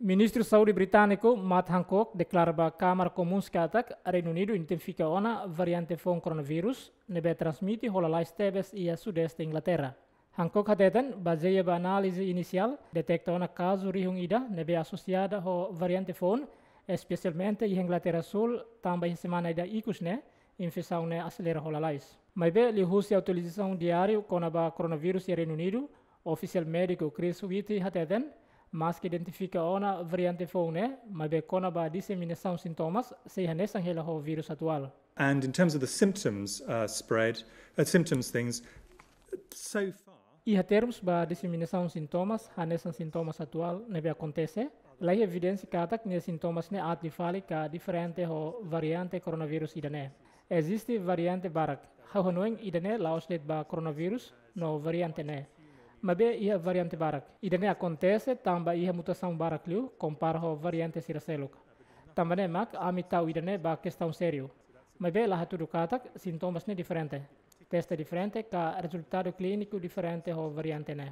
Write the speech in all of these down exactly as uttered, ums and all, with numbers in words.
Ministru Saúde britániku Matt Hancock deklara ba Kámara Komuns katak Reinu Unidu identifika ona variante foun koronavírus ne'ebé transmite ho lalais tebes iha sudeste Inglaterra. Hancock hateten, bazeia ba análize inisiál, deteta ona kazu rihun ida ne'ebé asosiada ho variante foun, espesialmente iha Inglaterra Súl, tanba iha semana ida ikus ne'e, infesaun ne'e aselera ho lalais. Maibé liuhusi atualizasaun diáriu kona-ba koronavírus iha Reinu Unidu, ofisiál médiku Chris Whitty hateten, maski identifika ona variante foun ne'e, maibé kona-ba diseminasaun sintomas, sei hanesan hela ho vírus atuál. And in terms of the symptoms, uh, spread, uh, symptoms things, so far. Iha termus ba diseminasaun sintomas, hanesan sintomas atuál ne'ebé akontese, laiha evidénsia katak nia sintomas ne'e aat liu fali ka diferente ho variante koronavírus ida-ne'e. Eziste variante barak. Ha'u hanoin ida-ne'e la'ós de'it ba koronavírus no variante ne'e. Maibé iha variante barak. Ida-ne'e akontese tanba iha mutasaun barak liu kompara ho variante sira seluk. Tanba ne'e mak ami tau ida-ne'e ba kestaun sériu. Maibé la hatudu katak sintomas ne'e diferente. Teste diferente ka rezultadu klíniku diferente ho variante ne'e.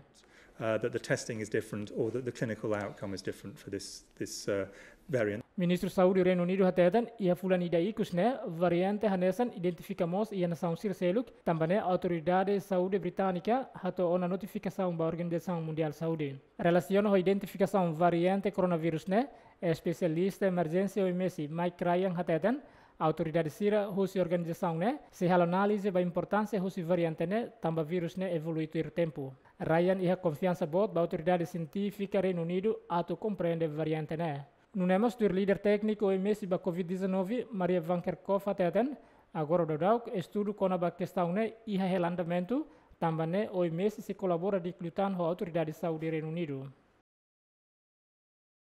Uh, that the testing is different or that the clinical outcome is different for this, this, uh, variant. Ministru Saúde Reinu Unidu hateten, iha fulan ida ikus ne'e, variante hanesan identifika mós iha nasaun sira seluk, tanba ne'e Autoridade Saúde Británika hato'o ona notifikasaun ba Organizasaun Mundiál Saúde. Relasiona ho identifikasaun variante koronavírus ne'e, espesialista emerjénsia O M S Mike Ryan hateten, autoridade sira husi organizasaun ne'e sei halo análize ba importánsia husi variante ne'e tanba vírus ne'e evolui tuir tempu. Ryan iha konfiansa boot ba autoridade sientífika Reinu Unidu atu komprende variante ne'e. Nune'e mós tuir líder tékniku O M S ba covid dezanove, Maria Van Kerkhove hateten, agora daudauk estudu kona-ba kestaun ne'e iha hela andamentu, tanba ne'e O M S sei kolabora di'ak liután ho autoridade saúde Reinu Unidu.